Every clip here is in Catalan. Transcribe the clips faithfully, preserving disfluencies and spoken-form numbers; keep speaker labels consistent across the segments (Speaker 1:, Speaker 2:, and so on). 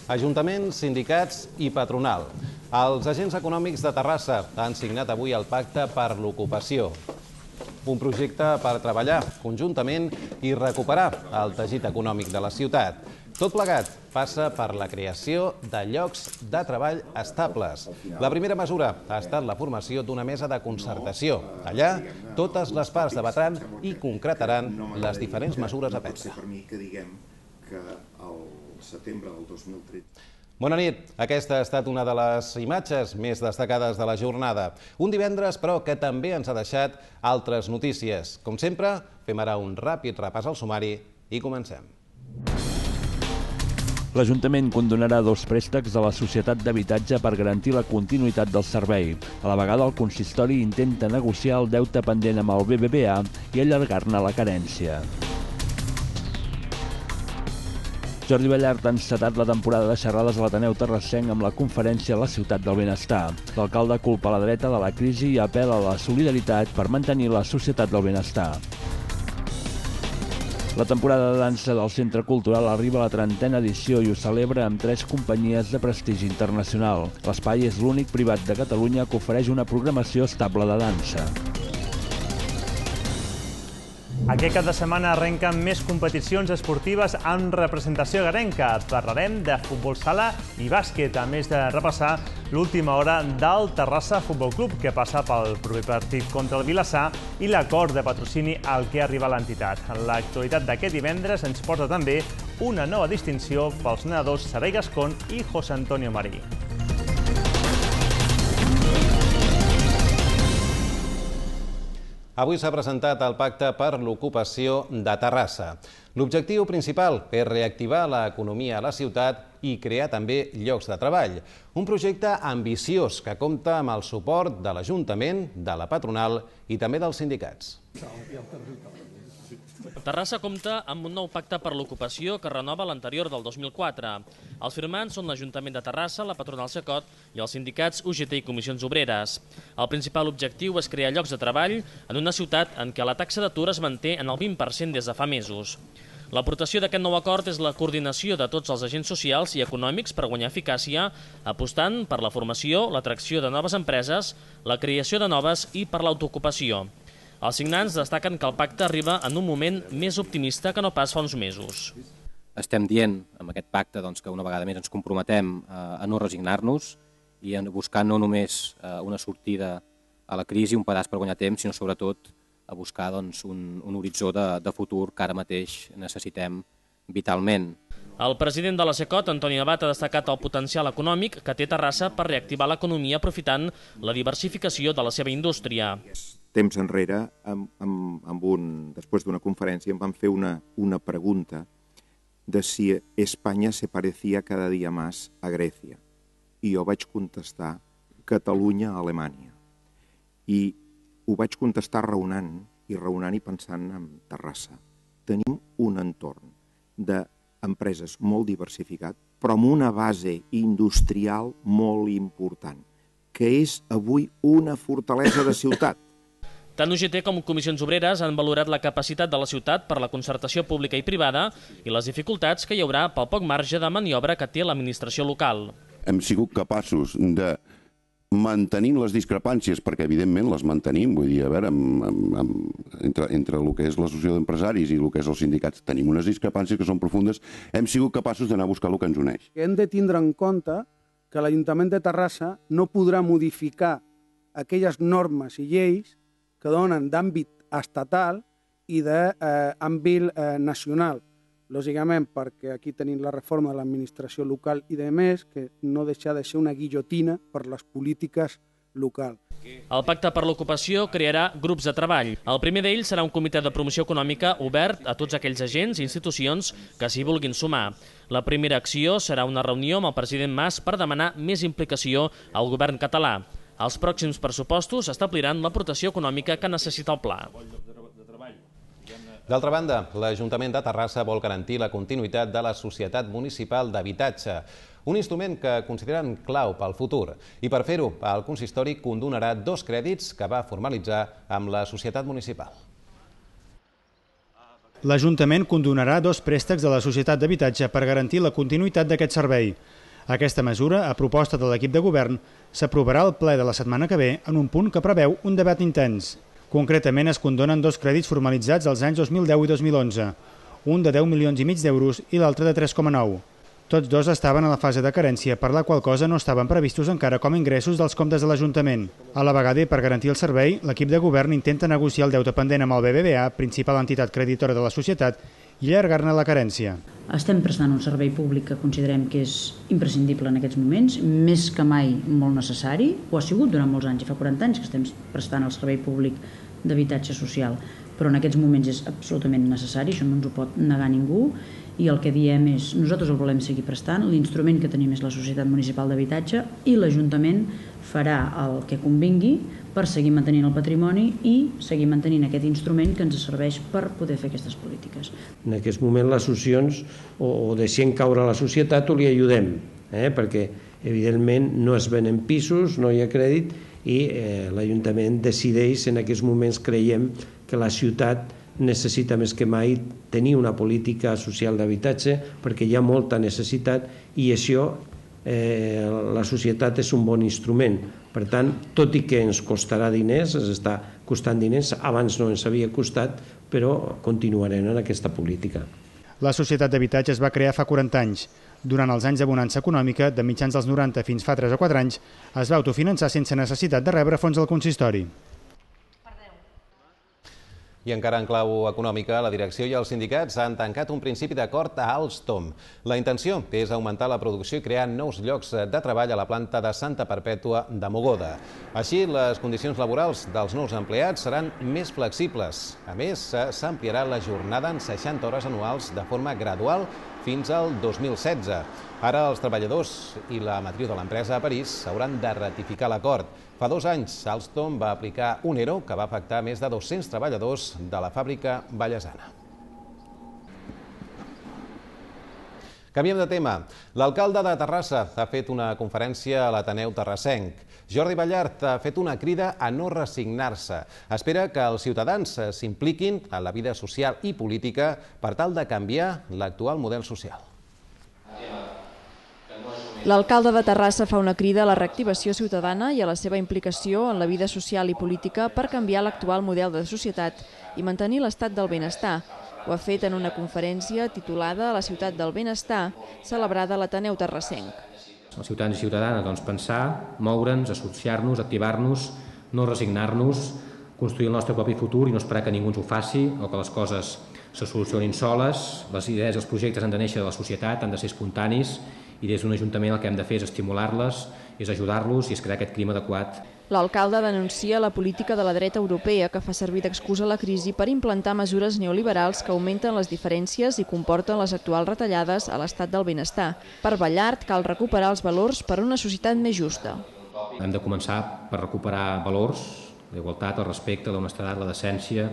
Speaker 1: Ajuntaments, sindicats i patronal. Els agents econòmics de Terrassa han signat avui el Pacte per l'Ocupació. Un projecte per treballar conjuntament i recuperar el teixit econòmic de la ciutat. Tot plegat passa per la creació de llocs de treball estables. La primera mesura ha estat la formació d'una mesa de concertació. Allà, totes les parts debatran i concretaran les diferents mesures a prendre. Bona nit. Aquesta ha estat una de les imatges més destacades de la jornada. Un divendres, però, que també ens ha deixat altres notícies. Com sempre, fem ara un ràpid repàs al sumari i comencem.
Speaker 2: L'Ajuntament condonarà dos préstecs de la Societat d'Habitatge per garantir la continuïtat del servei. A la vegada, el consistori intenta negociar el deute pendent amb el B B V A i allargar-ne la carència. Jordi Ballart ha encetat la temporada de xerrades a l'Ateneu Terrassenc amb la conferència a la Ciutat del Benestar. L'alcalde culpa la dreta de la crisi i apel·la a la solidaritat per mantenir la societat del benestar. La temporada de dansa del Centre Cultural arriba a la trentena edició i ho celebra amb tres companyies de prestigi internacional. L'espai és l'únic privat de Catalunya que ofereix una programació estable de dansa.
Speaker 3: Aquest cap de setmana arrenquen més competicions esportives amb representació garenca. Parlarem de futbol sala i bàsquet, a més de repassar l'última hora del Terrassa Futbol Club, que passa pel proper partit contra el Vilassar i l'acord de patrocini al que arriba l'entitat. L'actualitat d'aquest divendres ens porta també una nova distinció pels nedadors Sarai Gascón i José Antonio Marí.
Speaker 1: Avui s'ha presentat el Pacte per l'Ocupació de Terrassa. L'objectiu principal és reactivar l'economia a la ciutat i crear també llocs de treball. Un projecte ambiciós que compta amb el suport de l'Ajuntament, de la patronal i també dels sindicats.
Speaker 4: Terrassa compta amb un nou pacte per l'ocupació que renova l'anterior del dos mil quatre. Els firmants són l'Ajuntament de Terrassa, la patronal Cecot i els sindicats U G T i Comissions Obreres. El principal objectiu és crear llocs de treball en una ciutat en què la taxa d'atur es manté en el vint per cent des de fa mesos. L'aportació d'aquest nou acord és la coordinació de tots els agents socials i econòmics per guanyar eficàcia, apostant per la formació, l'atracció de noves empreses, la creació de noves i per l'autoocupació. Els signants destaquen que el pacte arriba en un moment més optimista que no pas fa uns mesos.
Speaker 5: Estem dient amb aquest pacte doncs, que una vegada més ens comprometem a no resignar-nos i a buscar no només una sortida a la crisi, un pedaç per guanyar temps, sinó sobretot a buscar doncs, un, un horitzó de, de futur que ara mateix necessitem vitalment.
Speaker 4: El president de la Cecot, Antoni Abat, ha destacat el potencial econòmic que té Terrassa per reactivar l'economia aprofitant la diversificació de la seva indústria.
Speaker 6: Temps enrere, amb, amb, amb un, després d'una conferència, em van fer una, una pregunta de si Espanya se parecía cada dia més a Grècia. I jo vaig contestar Catalunya a Alemanya. I ho vaig contestar raonant i raonant i pensant en Terrassa. Tenim un entorn d'empreses molt diversificat, però amb una base industrial molt important, que és avui una fortalesa de ciutat.
Speaker 4: Tant U G T com Comissions Obreres han valorat la capacitat de la ciutat per la concertació pública i privada i les dificultats que hi haurà pel poc marge de maniobra que té l'administració local.
Speaker 7: Hem sigut capaços de mantenir les discrepàncies, perquè evidentment les mantenim, vull dir, a veure, amb, amb, amb, entre, entre el que és l'associació d'empresaris i el que és els sindicats, tenim unes discrepàncies que són profundes, hem sigut capaços d'anar a buscar el que ens uneix.
Speaker 8: Hem de tindre en compte que l'Ajuntament de Terrassa no podrà modificar aquelles normes i lleis que donen d'àmbit estatal i d'àmbit eh, nacional. Lògicament, perquè aquí tenim la reforma de l'administració local i de més, que no deixa de ser una guillotina per les polítiques locals.
Speaker 4: El Pacte per l'Ocupació crearà grups de treball. El primer d'ells serà un comitè de promoció econòmica obert a tots aquells agents i institucions que s'hi vulguin sumar. La primera acció serà una reunió amb el president Mas per demanar més implicació al govern català. Els pròxims pressupostos establiran l'aportació econòmica que necessita el pla.
Speaker 1: D'altra banda, l'Ajuntament de Terrassa vol garantir la continuïtat de la Societat Municipal d'Habitatge, un instrument que consideren clau pel futur. I per fer-ho, el consistori condonarà dos crèdits que va formalitzar amb la Societat Municipal.
Speaker 9: L'Ajuntament condonarà dos préstecs de la Societat d'Habitatge per garantir la continuïtat d'aquest servei. Aquesta mesura, a proposta de l'equip de govern, s'aprovarà al ple de la setmana que ve en un punt que preveu un debat intens. Concretament es condonen dos crèdits formalitzats als anys dos mil deu i dos mil onze, un de deu milions i mig d'euros i l'altre de tres coma nou. Tots dos estaven a la fase de carència, per la qual cosa no estaven previstos encara com a ingressos dels comptes de l'Ajuntament. A la vegada i per garantir el servei, l'equip de govern intenta negociar el deute pendent amb el B B V A, principal entitat creditora de la societat, i allargar-ne la carència.
Speaker 10: Estem prestant un servei públic que considerem que és imprescindible en aquests moments, més que mai molt necessari, ho ha sigut durant molts anys, i fa quaranta anys que estem prestant el servei públic d'habitatge social, però en aquests moments és absolutament necessari, això no ens ho pot negar ningú, i el que diem és, nosaltres el volem seguir prestant, l'instrument que tenim és la Societat Municipal d'Habitatge i l'Ajuntament farà el que convingui per seguir mantenint el patrimoni i seguir mantenint aquest instrument que ens serveix per poder fer aquestes polítiques.
Speaker 11: En aquest moment les associacions o, o deixem caure la societat o li ajudem, eh? perquè evidentment no es venen pisos, no hi ha crèdit i eh, l'Ajuntament decideix, en aquests moments creiem que la ciutat necessita més que mai tenir una política social d'habitatge perquè hi ha molta necessitat i això eh, la societat és un bon instrument. Per tant, tot i que ens costarà diners, ens està costant diners, abans no ens havia costat, però continuarem en aquesta política.
Speaker 9: La Societat d'Habitatge es va crear fa quaranta anys. Durant els anys de bonança econòmica, de mitjans dels noranta fins fa tres o quatre anys, es va autofinançar sense necessitat de rebre fons del consistori.
Speaker 1: I encara en clau econòmica, la direcció i els sindicats han tancat un principi d'acord a Alstom. La intenció és augmentar la producció i crear nous llocs de treball a la planta de Santa Perpètua de Mogoda. Així, les condicions laborals dels nous empleats seran més flexibles. A més, s'ampliarà la jornada en seixanta hores anuals de forma gradual fins al dos mil setze. Ara els treballadors i la matriu de l'empresa a París hauran de ratificar l'acord. Fa dos anys, Alstom va aplicar un ERO que va afectar més de dos-cents treballadors de la fàbrica vallesana. Canviem de tema. L'alcalde de Terrassa ha fet una conferència a l'Ateneu Terrassenc. Jordi Ballart ha fet una crida a no resignar-se. Espera que els ciutadans s'impliquin en la vida social i política per tal de canviar l'actual model social.
Speaker 12: L'alcalde de Terrassa fa una crida a la reactivació ciutadana i a la seva implicació en la vida social i política per canviar l'actual model de societat i mantenir l'estat del benestar. Ho ha fet en una conferència titulada La ciutat del benestar, celebrada a l'Ateneu Terrassenc.
Speaker 5: Els ciutadans i ciutadanes, doncs, pensar, moure'ns, associar-nos, activar-nos, no resignar-nos, construir el nostre propi futur i no esperar que ningú ens ho faci o que les coses se solucionin soles. Les idees i els projectes han de néixer de la societat, han de ser espontanis i des d'un ajuntament el que hem de fer és estimular-les, és ajudar-los i és crear aquest clima adequat.
Speaker 12: L'alcalde denuncia la política de la dreta europea que fa servir d'excusa la crisi per implantar mesures neoliberals que augmenten les diferències i comporten les actuals retallades a l'estat del benestar. Per Ballart cal recuperar els valors per a una societat més justa.
Speaker 5: Hem de començar per recuperar valors, la igualtat, el respecte, l'honestedat, la decència,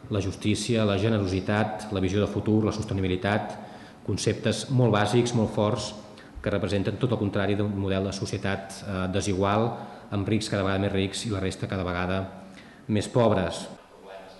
Speaker 5: la justícia, la generositat, la visió de futur, la sostenibilitat, conceptes molt bàsics, molt forts, que representen tot el contrari d'un model de societat desigual, amb rics cada vegada més rics i la resta cada vegada més pobres.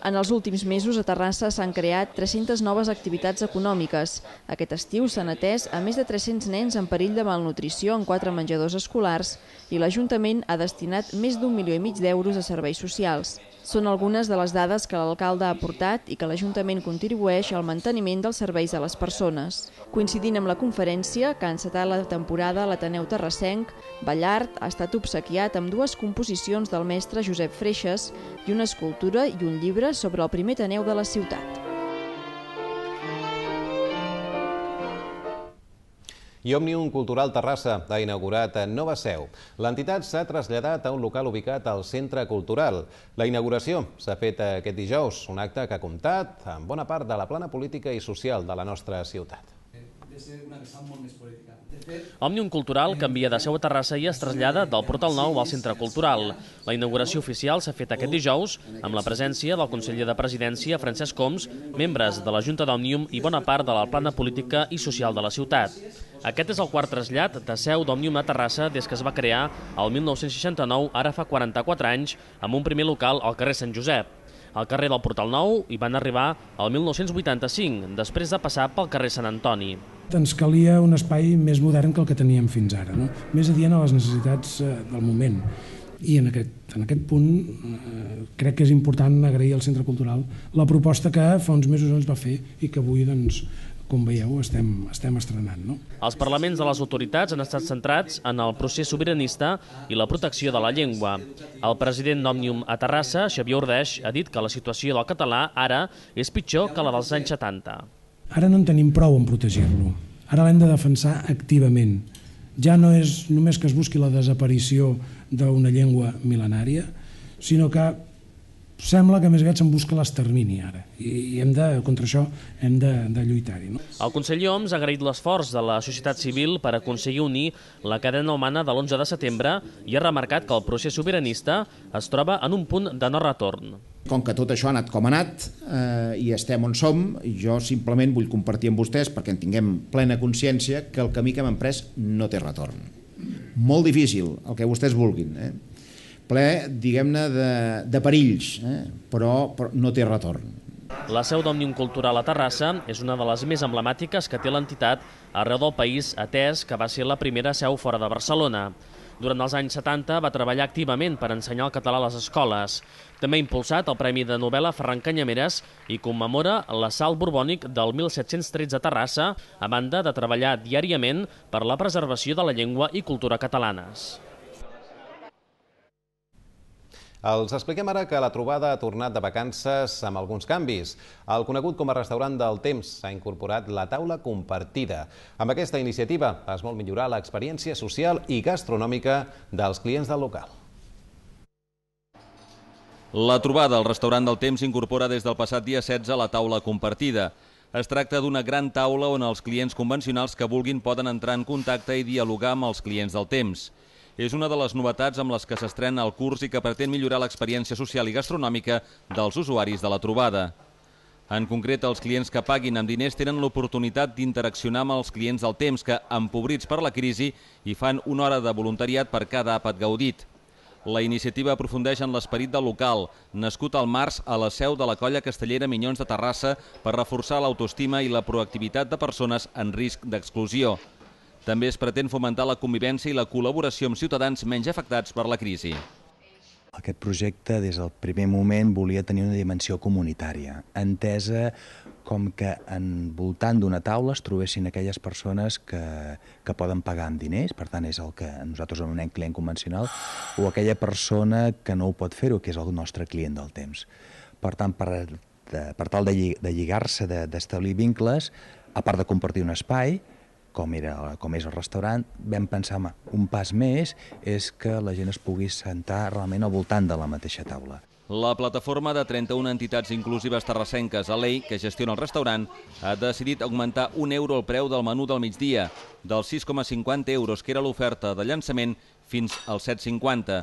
Speaker 12: En els últims mesos a Terrassa s'han creat tres-centes noves activitats econòmiques. Aquest estiu s'han atès a més de tres-cents nens en perill de malnutrició en quatre menjadors escolars i l'Ajuntament ha destinat més d'un milió i mig d'euros a serveis socials. Són algunes de les dades que l'alcalde ha aportat i que l'Ajuntament contribueix al manteniment dels serveis a les persones. Coincidint amb la conferència, que ha encetat la temporada a l'Ateneu Terrassenc, Ballart ha estat obsequiat amb dues composicions del mestre Josep Freixas i una escultura i un llibre sobre el primer Ateneu de la ciutat.
Speaker 1: I Òmnium Cultural Terrassa ha inaugurat nova seu. L'entitat s'ha traslladat a un local ubicat al Centre Cultural. La inauguració s'ha fet aquest dijous, un acte que ha comptat amb bona part de la plana política i social de la nostra ciutat.
Speaker 4: Òmnium Cultural canvia de seu a Terrassa i es trasllada del Portal Nou al Centre Cultural. La inauguració oficial s'ha fet aquest dijous amb la presència del conseller de Presidència, Francesc Homs, membres de la Junta d'Òmnium i bona part de la plana política i social de la ciutat. Aquest és el quart trasllat de seu d'Òmnium a Terrassa des que es va crear el mil nou-cents seixanta-nou, ara fa quaranta-quatre anys, amb un primer local al carrer Sant Josep. Al carrer del Portal Nou hi van arribar el mil nou-cents vuitanta-cinc, després de passar pel carrer Sant Antoni.
Speaker 13: Ens calia un espai més modern que el que teníem fins ara, no? Més adient a les necessitats del moment. I en aquest, en aquest punt eh, crec que és important agrair al Centre Cultural la proposta que fa uns mesos ens va fer i que avui, doncs, com veieu, estem, estem estrenant. No?
Speaker 4: Els parlaments de les autoritats han estat centrats en el procés sobiranista i la protecció de la llengua. El president d'Òmnium a Terrassa, Xavier Ordeix, ha dit que la situació del català ara és pitjor que la dels anys setanta.
Speaker 13: Ara no en tenim prou en protegir-lo. Ara l'hem de defensar activament. Ja no és només que es busqui la desaparició d'una llengua mil·lenària, sinó que sembla que més aviat se'n busca l'extermini ara. I hem de, contra això hem de, de lluitar-hi. No?
Speaker 4: El conseller Homs ha agraït l'esforç de la societat civil per aconseguir unir la cadena humana de l'onze de setembre i ha remarcat que el procés sobiranista es troba en un punt de no retorn.
Speaker 14: Com que tot això ha anat com ha anat eh, i estem on som, jo simplement vull compartir amb vostès, perquè en tinguem plena consciència, que el camí que hem emprès no té retorn. Molt difícil, el que vostès vulguin, eh? ple, diguem-ne, de, de perills, eh? però, però no té retorn.
Speaker 4: La seu d'Òmnium Cultural a Terrassa és una de les més emblemàtiques que té l'entitat arreu del país, atès que va ser la primera seu fora de Barcelona. Durant els anys setanta va treballar activament per ensenyar el català a les escoles. També ha impulsat el Premi de Novel·la Ferran Canyameres i commemora l'assalt borbònic del mil set-cents tretze a Terrassa, a banda de treballar diàriament per la preservació de la llengua i cultura catalanes.
Speaker 1: Els expliquem ara que la trobada ha tornat de vacances amb alguns canvis. El conegut com a restaurant del temps s'ha incorporat la taula compartida. Amb aquesta iniciativa es vol millorar l'experiència social i gastronòmica dels clients del local.
Speaker 15: La trobada al restaurant del temps incorpora des del passat dia setze la taula compartida. Es tracta d'una gran taula on els clients convencionals que vulguin poden entrar en contacte i dialogar amb els clients del temps. És una de les novetats amb les que s'estrena el curs i que pretén millorar l'experiència social i gastronòmica dels usuaris de la trobada. En concret, els clients que paguin amb diners tenen l'oportunitat d'interaccionar amb els clients del temps que, empobrits per la crisi, hi fan una hora de voluntariat per cada àpat gaudit. La iniciativa aprofundeix en l'esperit del local, nascut al març a la seu de la colla castellera Minyons de Terrassa per reforçar l'autoestima i la proactivitat de persones en risc d'exclusió. També es pretén fomentar la convivència i la col·laboració amb ciutadans menys afectats per la crisi.
Speaker 16: Aquest projecte, des del primer moment, volia tenir una dimensió comunitària, entesa com que envoltant d'una taula es trobessin aquelles persones que, que poden pagar amb diners, per tant és el que nosaltres anomenem client convencional, o aquella persona que no ho pot fer-ho, que és el nostre client del temps. Per tant, per, de, per tal de, de lligar-se, d'establir vincles, a part de compartir un espai, com, era, com és el restaurant, vam pensar que un pas més és que la gent es pugui sentar realment al voltant de la mateixa taula.
Speaker 15: La plataforma de trenta-una entitats inclusives terrassenques, A L E I, que gestiona el restaurant, ha decidit augmentar un euro el preu del menú del migdia, dels sis coma cinquanta euros que era l'oferta de llançament fins als set coma cinquanta.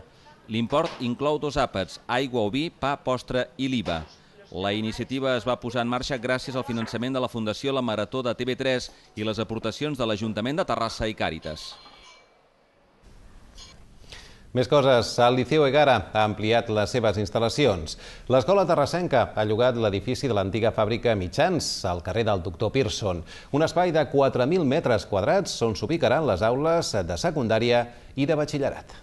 Speaker 15: L'import inclou dos àpats, aigua o vi, pa, postre i l'I V A. La iniciativa es va posar en marxa gràcies al finançament de la Fundació La Marató de T V tres i les aportacions de l'Ajuntament de Terrassa i Càritas.
Speaker 1: Més coses. El Liceu Egara ha ampliat les seves instal·lacions. L'escola terrassenca ha llogat l'edifici de l'antiga fàbrica Mitjans, al carrer del Doctor Pearson. Un espai de quatre mil metres quadrats on s'ubicaran les aules de secundària i de batxillerat.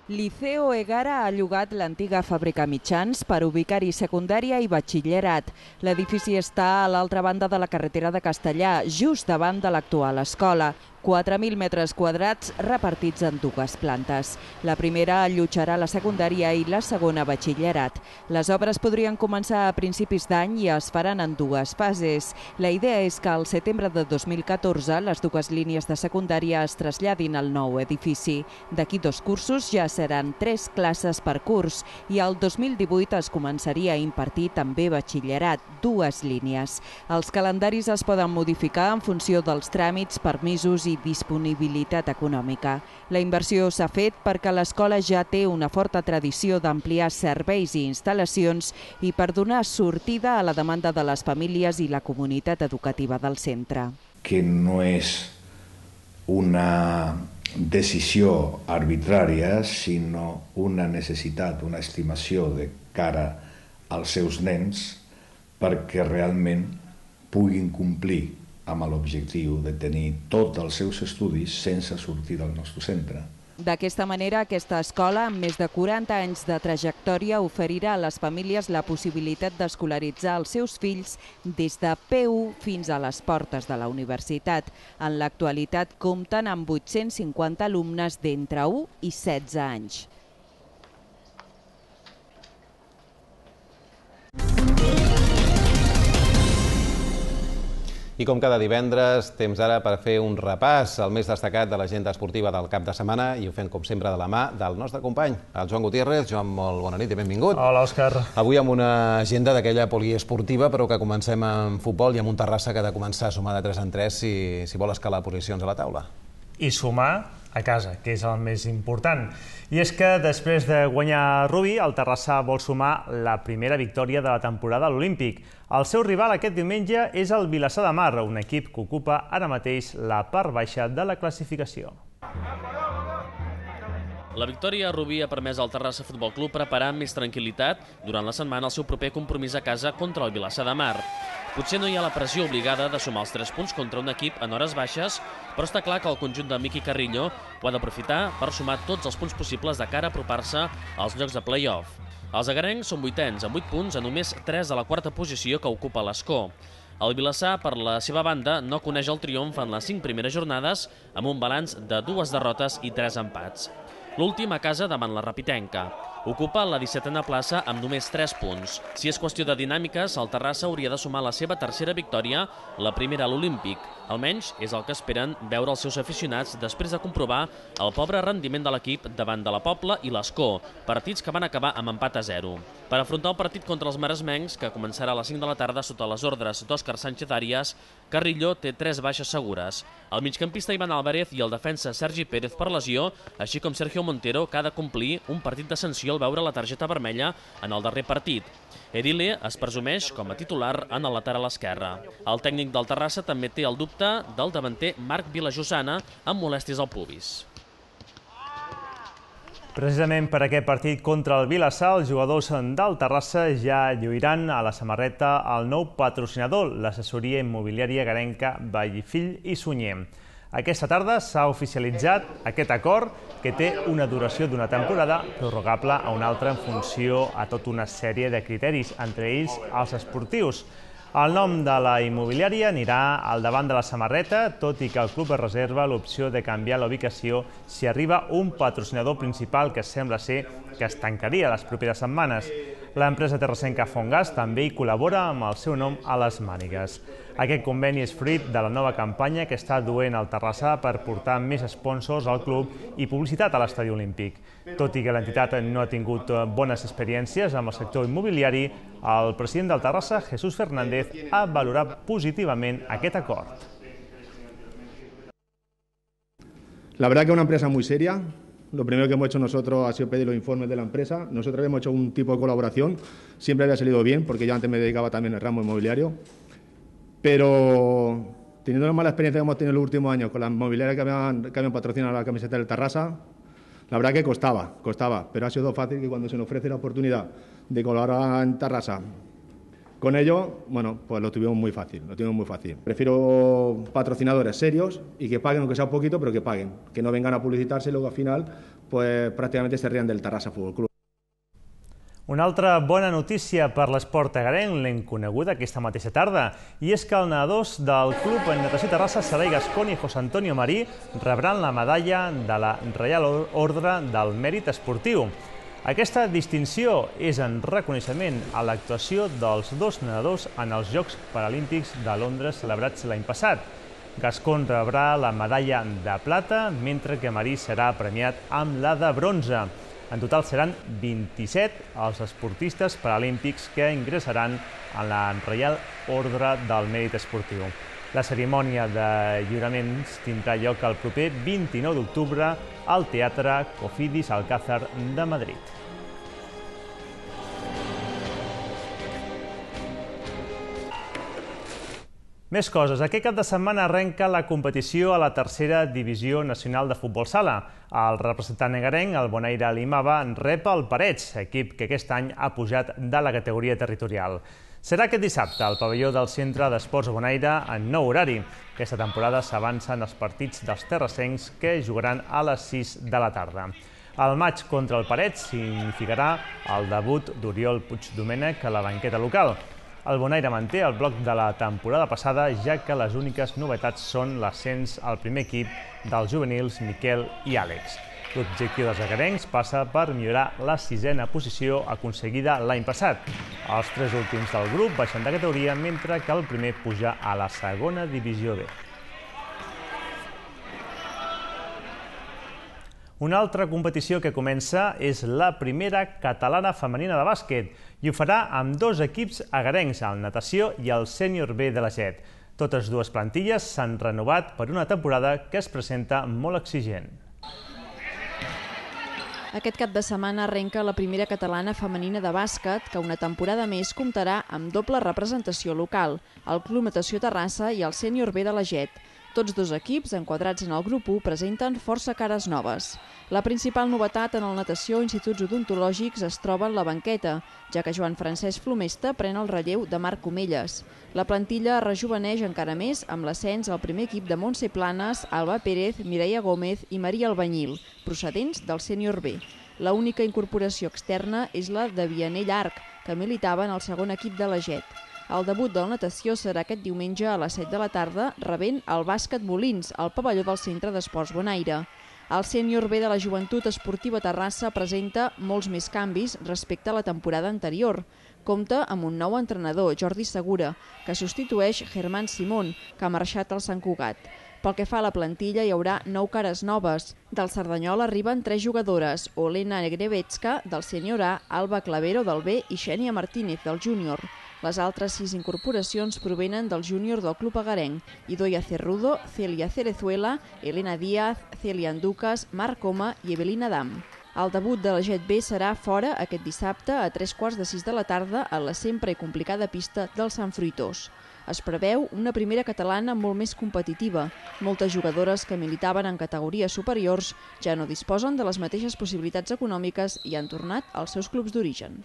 Speaker 17: Liceo Egara ha llogat l'antiga fàbrica Mitjans per ubicar-hi secundària i batxillerat. L'edifici està a l'altra banda de la carretera de Castellà, just davant de l'actual escola. quatre mil metres quadrats repartits en dues plantes. La primera allotjarà la secundària i la segona batxillerat. Les obres podrien començar a principis d'any i es faran en dues fases. La idea és que al setembre de dos mil catorze les dues línies de secundària es traslladin al nou edifici. D'aquí dos cursos ja seran tres classes per curs i el dos mil divuit es començaria a impartir també batxillerat, dues línies. Els calendaris es poden modificar en funció dels tràmits, permisos i disponibilitat econòmica. La inversió s'ha fet perquè l'escola ja té una forta tradició d'ampliar serveis i instal·lacions i per donar sortida a la demanda de les famílies i la comunitat educativa del centre.
Speaker 18: Que no és una decisió arbitrària, sinó una necessitat, una estimació de cara als seus nens perquè realment puguin complir amb l'objectiu de tenir tots els seus estudis sense sortir del nostre centre.
Speaker 17: D'aquesta manera, aquesta escola, amb més de quaranta anys de trajectòria, oferirà a les famílies la possibilitat d'escolaritzar els seus fills des de P u fins a les portes de la universitat. En l'actualitat compten amb vuit-cents cinquanta alumnes d'entre u i setze anys.
Speaker 1: I com cada divendres, temps ara per fer un repàs al més destacat de l'agenda esportiva del cap de setmana i ho fem, com sempre, de la mà del nostre company, el Joan Gutiérrez. Joan, molt bona nit i benvingut.
Speaker 3: Hola, Òscar.
Speaker 1: Avui amb una agenda d'aquella poliesportiva, però que comencem amb futbol i amb un Terrassa que ha de començar a sumar de tres en tres si, si vol escalar posicions a la taula.
Speaker 3: I sumar a casa, que és el més important. I és que després de guanyar Rubí, el Terrassa vol sumar la primera victòria de la temporada a l'Olímpic. El seu rival aquest diumenge és el Vilassar de Mar, un equip que ocupa ara mateix la part baixa de la classificació.
Speaker 4: La victòria a Rubí ha permès al Terrassa Futbol Club preparar amb més tranquil·litat durant la setmana el seu proper compromís a casa contra el Vilassar de Mar. Potser no hi ha la pressió obligada de sumar els tres punts contra un equip en hores baixes, però està clar que el conjunt de Miqui Carrillo ho ha d'aprofitar per sumar tots els punts possibles de cara a apropar-se als llocs de play-off. Els agarencs són vuitens, amb vuit punts a només tres de la quarta posició que ocupa l'Escó. El Vilassar, per la seva banda, no coneix el triomf en les cinc primeres jornades, amb un balanç de dues derrotes i tres empats. L'últim a casa davant la Rapitenca. Ocupa la dissetena plaça amb només tres punts. Si és qüestió de dinàmiques, el Terrassa hauria de sumar la seva tercera victòria, la primera a l'Olímpic. Almenys és el que esperen veure els seus aficionats després de comprovar el pobre rendiment de l'equip davant de la Pobla i l'Escó, partits que van acabar amb empat a zero. Per afrontar el partit contra els maresmencs, que començarà a les cinc de la tarda sota les ordres d'Òscar Sánchez Arias, Carrillo té tres baixes segures. El migcampista Ivan Álvarez i el defensa Sergi Pérez per lesió, així com Sergio Montero, que ha de complir un partit de sanció al veure la targeta vermella en el darrer partit. Erile es presumeix com a titular en el lateral esquerre. El tècnic del Terrassa també té el dubte del davanter Marc Vilajosana amb molèsties al pubis.
Speaker 3: Precisament per aquest partit contra el Vilassar, els jugadors del Terrassa ja lluiran a la samarreta el nou patrocinador, l'assessoria immobiliària garenca Vallfill i Sunyer. Aquesta tarda s'ha oficialitzat aquest acord que té una duració d'una temporada prorrogable a una altra en funció a tota una sèrie de criteris, entre ells els esportius. El nom de la immobiliària anirà al davant de la samarreta, tot i que el club es reserva l'opció de canviar la ubicació si arriba un patrocinador principal que sembla ser que es tancaria les properes setmanes. L'empresa terrassenca Fongas també hi col·labora amb el seu nom a les mànigues. Aquest conveni és fruit de la nova campanya que està duent el Terrassa per portar més sponsors al club i publicitat a l'Estadi Olímpic. Tot i que l'entitat no ha tingut bones experiències amb el sector immobiliari, el president del Terrassa, Jesús Fernández, ha valorat positivament aquest acord.
Speaker 19: La verdad que es una empresa muy seria. Lo primero que hemos hecho nosotros ha sido pedir los informes de la empresa. Nosotros hemos hecho un tipo de colaboración. Siempre había salido bien, porque yo antes me dedicaba también al ramo inmobiliario. Pero teniendo la mala experiencia que hemos tenido en los últimos años con las inmobiliarias que habían, que habían patrocinado la camiseta del Terrassa, la verdad que costaba, costaba. Pero ha sido fácil que cuando se nos ofrece la oportunidad de colaborar en Terrassa con ellos, bueno, pues lo tuvimos muy fácil, lo tuvimos muy fácil. Prefiero patrocinadores serios y que paguen, aunque sea un poquito, pero que paguen. Que no vengan a publicitarse y luego al final, pues prácticamente se rían del Terrassa Futbol Club.
Speaker 3: Una altra bona notícia per l'esport agarenc l'hem coneguda aquesta mateixa tarda, i és que els nedadors del Club Natació Terrassa, Sarai Gascón i José Antonio Marí rebran la medalla de la Reial Ordre del Mèrit Esportiu. Aquesta distinció és en reconeixement a l'actuació dels dos nedadors en els Jocs Paralímpics de Londres celebrats l'any passat. Gascón rebrà la medalla de plata, mentre que Marí serà premiat amb la de bronze. En total seran vint-i-set els esportistes paralímpics que ingressaran en la Reial Ordre del Mèrit Esportiu. La cerimònia de lliuraments tindrà lloc el proper vint-i-nou d'octubre al Teatre Cofidis Alcázar de Madrid. Més coses. Aquest cap de setmana arrenca la competició a la tercera divisió nacional de futbol sala. El representant egarenc, el Bonaire Limava, rep el Parets, equip que aquest any ha pujat de la categoria territorial. Serà aquest dissabte al pavelló del Centre d'Esports Bonaire en nou horari. Aquesta temporada s'avancen els partits dels terrassencs que jugaran a les sis de la tarda. El maig contra el Parets significarà el debut d'Oriol Puigdomènech a la banqueta local. El Bonaire manté el bloc de la temporada passada, ja que les úniques novetats són l'ascens al primer equip dels juvenils Miquel i Àlex. L'objectiu dels egarencs passa per millorar la sisena posició aconseguida l'any passat. Els tres últims del grup baixen de categoria, mentre que el primer puja a la segona divisió B. Una altra competició que comença és la primera catalana femenina de bàsquet i ho farà amb dos equips egarencs, el Natació i el Sènior B de la Jet. Totes dues plantilles s'han renovat per una temporada que es presenta molt exigent.
Speaker 12: Aquest cap de setmana arrenca la primera catalana femenina de bàsquet, que una temporada més comptarà amb doble representació local, el Club Natació Terrassa i el Sènior B de la Jet. Tots dos equips, enquadrats en el grup u, presenten força cares noves. La principal novetat en el Natació Instituts Odontològics es troba en la banqueta, ja que Joan Francesc Flomesta pren el relleu de Marc Comelles. La plantilla es rejuveneix encara més amb l'ascens al primer equip de Montse Planes, Alba Pérez, Mireia Gómez i Maria Albanyil, procedents del Sènior B. La única incorporació externa és la de Vianell Arc, que militava en el segon equip de la Jet. El debut del Natació serà aquest diumenge a les set de la tarda, rebent el Bàsquet Molins, al pavelló del Centre d'Esports Bonaire. El Sènior B de la Joventut Esportiva Terrassa presenta molts més canvis respecte a la temporada anterior. Compta amb un nou entrenador, Jordi Segura, que substitueix Germán Simón, que ha marxat al Sant Cugat. Pel que fa a la plantilla, hi haurà nou cares noves. Del Cerdanyol arriben tres jugadores, Olena Negrevetska, del Sènior A, Alba Clavero, del B, i Xènia Martínez, del Júnior. Les altres sis incorporacions provenen del júnior del club egarenc, Idoia Cerrudo, Celia Cerezuela, Elena Díaz, Celia Anducas, Marc Coma i Evelina Dam. El debut de la Jet B serà fora aquest dissabte a tres quarts de sis de la tarda a la sempre i complicada pista del Sant Fruitós. Es preveu una primera catalana molt més competitiva. Moltes jugadores que militaven en categories superiors ja no disposen de les mateixes possibilitats econòmiques i han tornat als seus clubs d'origen.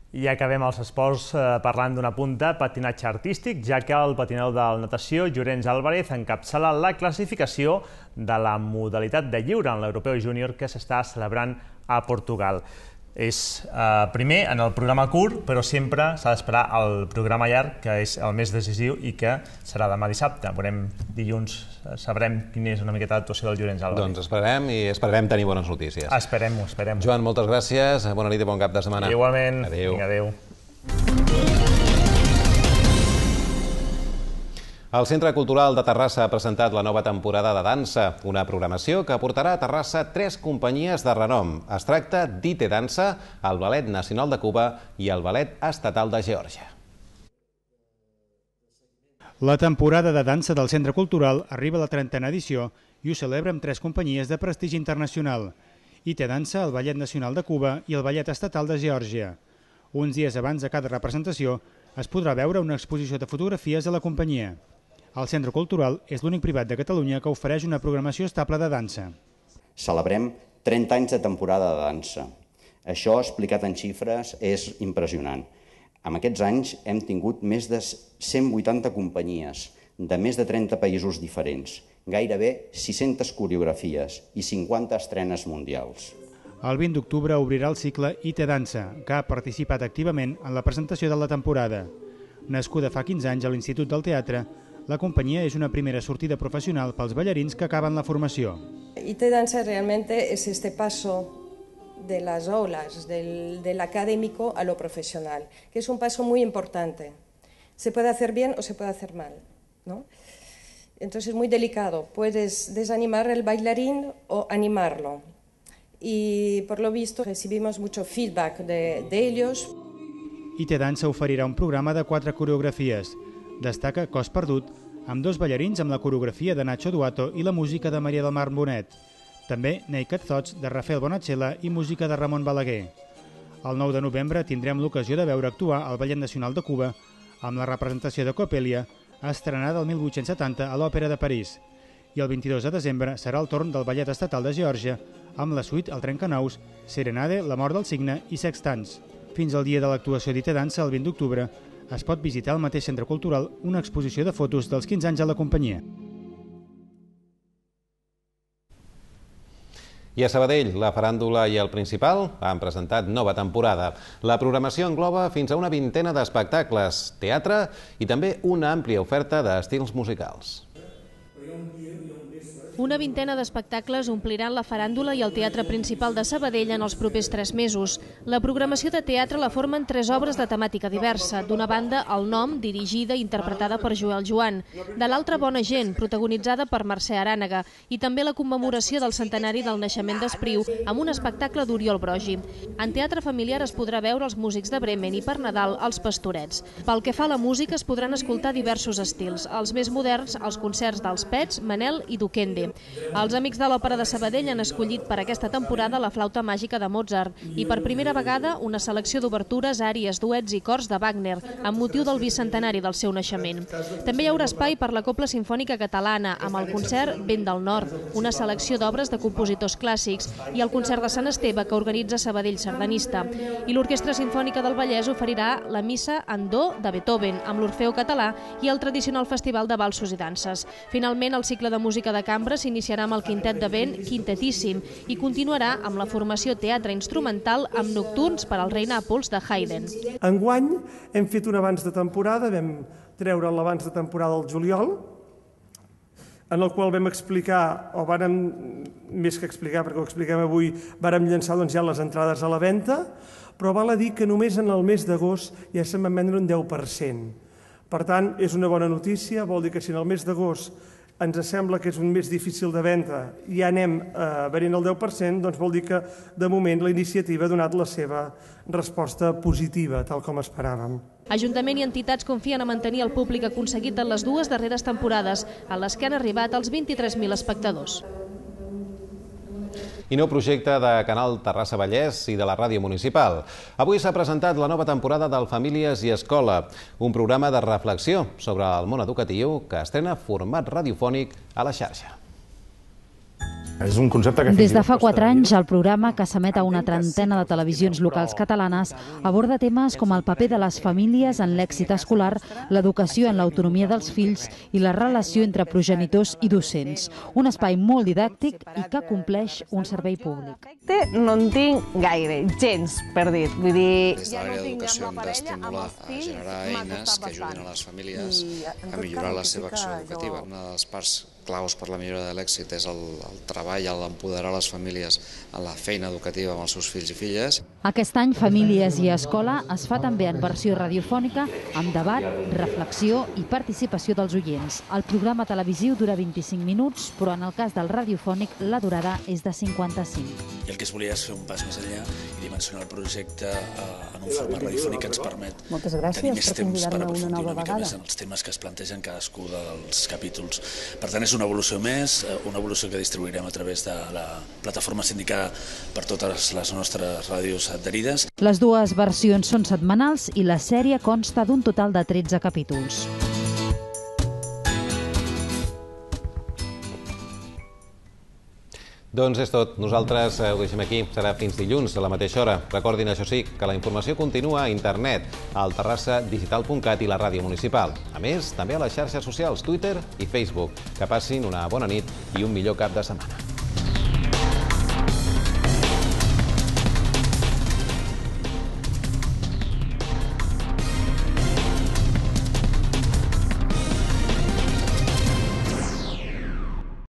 Speaker 3: I acabem els esports parlant d'una punta, patinatge artístic, ja que el patinador del Natació, Llorenç Álvarez, encapçala la classificació de la modalitat de lliure en l'Europeu Júnior que s'està celebrant a Portugal. És primer en el programa curt, però sempre s'ha d'esperar el programa llarg, que és el més decisiu i que serà demà dissabte. Veurem dilluns, sabrem quina és una miqueta l'actuació del Llorenç Álvarez.
Speaker 1: Doncs esperem i esperem tenir bones notícies.
Speaker 3: Esperem-ho, esperem-ho.
Speaker 1: Joan, moltes gràcies, bona nit i bon cap de setmana.
Speaker 3: Igualment.
Speaker 1: Adéu.
Speaker 3: Adéu.
Speaker 1: El Centre Cultural de Terrassa ha presentat la nova temporada de dansa, una programació que portarà a Terrassa tres companyies de renom. Es tracta d'I T Dansa, el Ballet Nacional de Cuba i el Ballet Estatal de Geòrgia.
Speaker 9: La temporada de dansa del Centre Cultural arriba a la trentena edició i ho celebra amb tres companyies de prestigi internacional. I T Dansa, el Ballet Nacional de Cuba i el Ballet Estatal de Geòrgia. Uns dies abans de cada representació es podrà veure una exposició de fotografies a la companyia. El Centre Cultural és l'únic privat de Catalunya que ofereix una programació estable de dansa.
Speaker 20: Celebrem trenta anys de temporada de dansa. Això, explicat en xifres, és impressionant. En aquests anys hem tingut més de cent vuitanta companyies de més de trenta països diferents, gairebé sis-centes coreografies i cinquanta estrenes mundials.
Speaker 9: El vint d'octubre obrirà el cicle I T Dansa, que ha participat activament en la presentació de la temporada. Nascuda fa quinze anys a l'Institut del Teatre, la companyia és una primera sortida profesional pels ballarins que acaben la formació.
Speaker 21: I T Dansa realmente es este paso de las aulas, del, del académico a lo profesional, que es un paso muy importante. Se puede hacer bien o se puede hacer mal, ¿no? Entonces es muy delicado. Puedes desanimar al bailarín o animarlo. Y por lo visto recibimos mucho feedback de, de ellos.
Speaker 9: I T Dansa oferirà un programa de quatre coreografies. Destaca Cos Perdut, amb dos ballarins amb la coreografia de Nacho Duato i la música de Maria del Mar Bonet. També Naked Thoughts de Rafael Bonachela i música de Ramon Balaguer. El nou de novembre tindrem l'ocasió de veure actuar el Ballet Nacional de Cuba amb la representació de Coppelia, estrenada el mil vuit-cents setanta a l'Òpera de París. I el vint-i-dos de desembre serà el torn del Ballet Estatal de Geòrgia, amb la suite El Trencanous, Serenade, La mort del cigne i Sextants. Fins al dia de l'actuació d'I T Dansa, el vint d'octubre, es pot visitar al mateix centre cultural una exposició de fotos dels quinze anys de la companyia.
Speaker 1: I a Sabadell, la Faràndula i el Principal han presentat nova temporada. La programació engloba fins a una vintena d'espectacles, teatre i també una àmplia oferta d'estils musicals.
Speaker 2: Una vintena d'espectacles ompliran la Faràndula i el Teatre Principal de Sabadell en els propers tres mesos. La programació de teatre la formen tres obres de temàtica diversa. D'una banda, El nom, dirigida i interpretada per Joel Joan. De l'altra, Bona gent, protagonitzada per Mercè Arànega. I també la commemoració del centenari del naixement d'Espriu, amb un espectacle d'Oriol Brogi. En teatre familiar es podrà veure els músics de Bremen i per Nadal, els Pastorets. Pel que fa a la música, es podran escoltar diversos estils. Els més moderns, els concerts dels Pets, Manel i Duquende. Els amics de l'Òpera de Sabadell han escollit per aquesta temporada la flauta màgica de Mozart i per primera vegada una selecció d'obertures, àries, duets i cors de Wagner amb motiu del bicentenari del seu naixement. També hi haurà espai per la Cobla Simfònica Catalana amb el concert Vent del Nord, una selecció d'obres de compositors clàssics i el concert de Sant Esteve que organitza Sabadell Sardanista. I l'Orquestra Simfònica del Vallès oferirà la Missa en Do de Beethoven amb l'Orfeo Català i el tradicional Festival de Valsos i Danses. Finalment, el cicle de música de cambra s'iniciarà amb el quintet de vent Quintetíssim i continuarà amb la formació teatre instrumental amb nocturns per al rei Nàpols de Haydn.
Speaker 22: Enguany hem fet un abans de temporada, vam treure l'abans de temporada al juliol, en el qual vam explicar, o vàrem, més que explicar, perquè ho expliquem avui, vàrem llançar doncs, ja les entrades a la venda, però val a dir que només en el mes d'agost ja se'n van vendre un deu per cent. Per tant, és una bona notícia, vol dir que si en el mes d'agost ens sembla que és un mes difícil de venda i ja anem venint el deu per cent, doncs vol dir que de moment la iniciativa ha donat la seva resposta positiva, tal com esperàvem.
Speaker 2: Ajuntament i entitats confien a mantenir el públic aconseguit en les dues darreres temporades, a les que han arribat els vint-i-tres mil espectadors.
Speaker 1: I nou projecte de Canal Terrassa Vallès i de la Ràdio Municipal. Avui s'ha presentat la nova temporada del Famílies i Escola, un programa de reflexió sobre el món educatiu que estrena format radiofònic a la xarxa.
Speaker 23: És un concepte que
Speaker 24: Des de fa quatre anys, el programa, que s'emet a una trentena de televisions locals catalanes, aborda temes com el paper de les famílies en l'èxit escolar, l'educació en l'autonomia dels fills i la relació entre progenitors i docents. Un espai molt didàctic i que compleix un servei públic.
Speaker 25: No en tinc gaire, gens, per dir. Vull dir,
Speaker 26: Des de l'àrea d'educació hem d'estimular a generar eines que ajudin a les famílies a millorar la seva acció educativa. Una de les parts claus per la millora de l'èxit és el, el treball, l'empoderar les famílies en la feina educativa amb els seus fills i filles.
Speaker 24: Aquest any, Famílies i Escola es fa també en versió radiofònica, amb debat, reflexió i participació dels oients. El programa televisiu dura vint-i-cinc minuts, però en el cas del radiofònic la durada és de cinquanta-cinc.
Speaker 27: I el que es volia és fer un pas més enllà i dimensionar el projecte en un format radiofònic que ens permet tenir més temps per aprofundir una mica més en els temes que es plantegen cadascú dels capítols. Per tant, és una evolució més, una evolució que distribuirem a través de la plataforma sindicada per totes les nostres ràdios adherides.
Speaker 24: Les dues versions són setmanals i la sèrie consta d'un total de tretze capítols.
Speaker 1: Doncs és tot. Nosaltres ho deixem aquí. Serà fins dilluns a la mateixa hora. Recordin, això sí, que la informació continua a internet, al terrassa digital punt cat i la ràdio municipal. A més, també a les xarxes socials, Twitter i Facebook. Que passin una bona nit i un millor cap de setmana.